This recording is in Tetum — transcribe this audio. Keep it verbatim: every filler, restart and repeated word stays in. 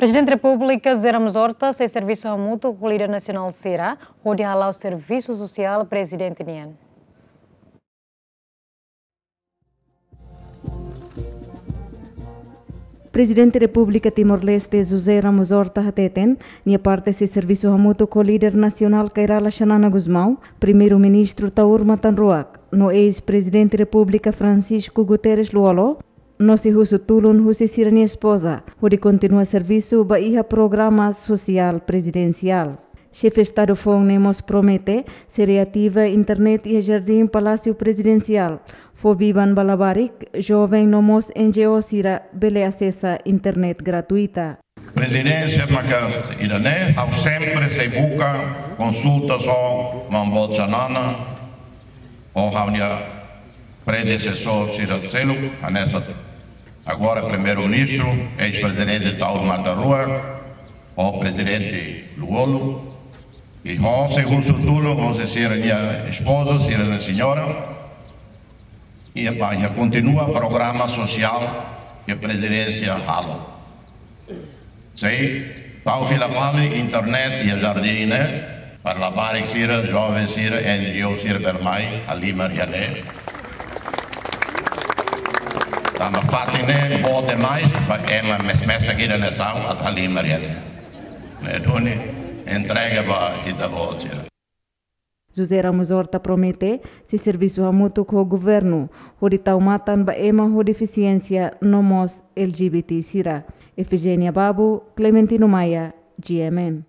Prezidente Repúblika José Ramos Horta sei servisu hamutuk ho líder nasionál sira hodi hala'o servisu sosiál prezidente nian. Prezidente Repúblika Timor-Leste José Ramos Horta hateten, nia parte sei servisu hamutuk ho líder nasionál Kay Rala Xanana Gusmão, Primeiru-Ministru Taur Matan Ruak, no eis-Prezidente Repúblika Francisco Guterres Lú-Olo, no sei husu tulun husi sira-nia espoza, hodi kontinua servisu ba iha programa sosiál prezidensiál. Xefe Estadu foun ne'e mós promete sei reativa internet iha Jardín Palásiu Prezidensiál, fó biban ba labarik, joven no mós N G O sira bele asesa internet gratuita. Prezidénsia maka ida-ne'e, ha'u sempre sei buka konsultasaun ho maun boot Xanana, ho ha'u-nia predesesór sira seluk, hanesan agora Primeiru-Ministru, eis-Prezidente Taur Matan Ruak, ho Prezidente Lú-Olo, i ho sei husu tulun, ho sei sira-nia espoza, sira-nia señora, i ba iha kontinua programa sosiál ke prezidénsia halo. Sei tau fila fali internet iha jardín ne'e, para labarik sira, joven sira, N G O sira bele mai halimar iha ne'e. Tanba fatin ne'e boot demais, ba ema mes-, mesak ida-ne'e sa'e atu halimar iha ne'e. Ne'e duni entrega ba ita-boot sira. José Ramos Horta promete sei servisu hamutuk ho governu, hodi tau matan ba ema ho defisiénsia no mós L G B T sira. Efigénia Babu, Clementino Maia, G M N.